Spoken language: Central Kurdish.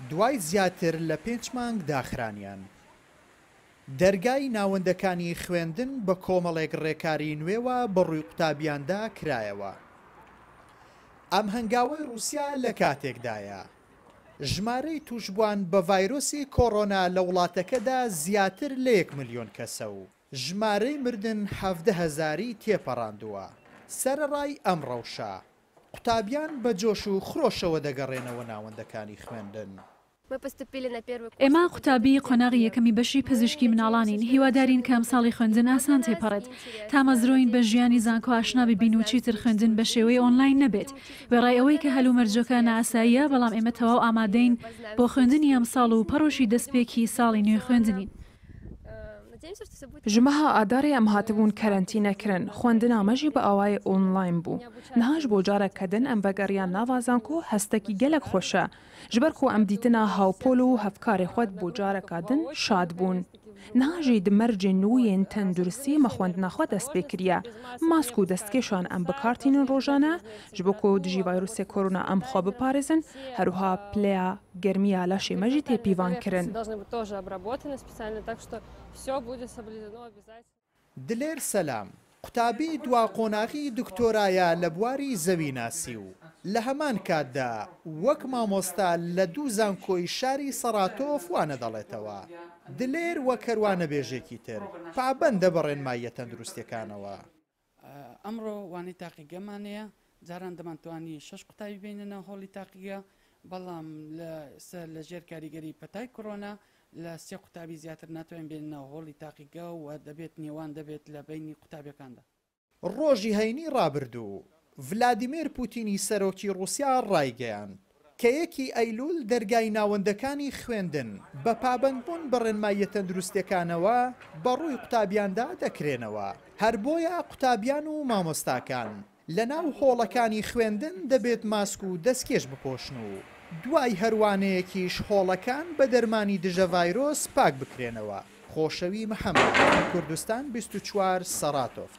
دوای زیاتر لە پێنج مانگ داخرانیان، دەرگای ناوەندەکانی خوێندن بە کۆمەڵێک ڕێکاری نوێوە بەڕووی قوتابیاندا کرایەوە. ئەم هەنگاوەی ڕووسیا لە کاتێکدایە، ژمارەی تووشبووان بە ڤایرۆسی کۆرۆنا لە وڵاتەکەدا زیاتر لە یەک ملیۆن کەسە و ژمارەی مردن 17 هەزاری تێپەڕاندووە. سەرەڕای ئەم ڕەوشە، قوتابیان بە جۆش و خرۆشەوە دەگەڕێنەوە ناوەندەکانی خوێندن. ئێمە قوتابی قۆناغی یەکەمی بەشی پزیشکی مناڵانین، هیوادارین کە ئەمساڵی خوێندن ئاسان تێپەڕێت، تامەزرۆین بە ژیانی زانکۆ ئاشنا ببین و چیتر خوێندن بە شێوەی ئۆنلاین نەبێت، وێڕای ئەوەی کە هەلومەرجەکە نائاساییە، بەڵام ئێمە تەواو ئامادەین بۆ خوێندنی ئەمساڵ و پەڕۆشی دەستپێکی ساڵی نوێی خوێندنین. Ji meha Adarê em hatibûn kerentînekirin. Xwendina me jî bi awayê online bû. Niha ji bo careke din em vegeriyan nava zanko hestekî gelek xweş e. Ji ber ku em dîtina hawpol û hevkarê xwe bo careka din şad bûn. Niha jî di mercên nû yên tenduristiyê me xwendina xwe dest pê kiriye. Mask û destkêşan em bi kar tînin rojane ji bo ku dijî vayrûsê korona em xwe biparêzin, her wiha pileya germiya laşê me jî tê pîvankirin. دلێر سەلام، قوتابی دوا قۆناغی دکتۆرایە لە بواری زەویناسی و لە هەمان کاتدا وەک مامۆستا لە دوو زانکۆی شاری سەڕاتۆف وانە دەڵێتەوە. دلێر وەک هەر وانەبێژێکی تر پابەندە بە ڕێنماییە تەندروستیەکانەوە. ئەمڕۆ وانەی تاقیگەمان هەیە، جاران دەمانتوانی شەش قوتابی بێنە ناو هۆڵی تاقیگە، بەڵام لە ئێستا لە ژێر کاریگەری پەتای کۆرۆنا لە سێ قوتابی زیاتر ناتوانین بێنە ناو هۆڵی تاقیگە و دەبێت نێوان دەبێت لە بەینی قوتابیەکاندا. ڕۆژی هەینی ڕابردوو، ڤلادیمێر پوتینی سەرۆکی ڕووسیا ڕایگەیاند، کە یەکی ئەیلول دەرگای ناوەندەکانی خوێندن بە پابەندبوون بە ڕێنماییە تەندروستیەکانەوە بەڕووی قوتابیاندا دەکرێنەوە، هەر بۆیە قوتابیان و مامۆستاکان لەناو هۆڵەکانی خوێندن دەبێت ماسک و دەستکێش بپۆشن و دوای هەر وانەیەکیش هۆڵەکان بە دەرمانی دژە ڤایرۆس پاک بکرێنەوە. خۆشەوی محەمەد، کوردستان 24، سەڕاتۆف.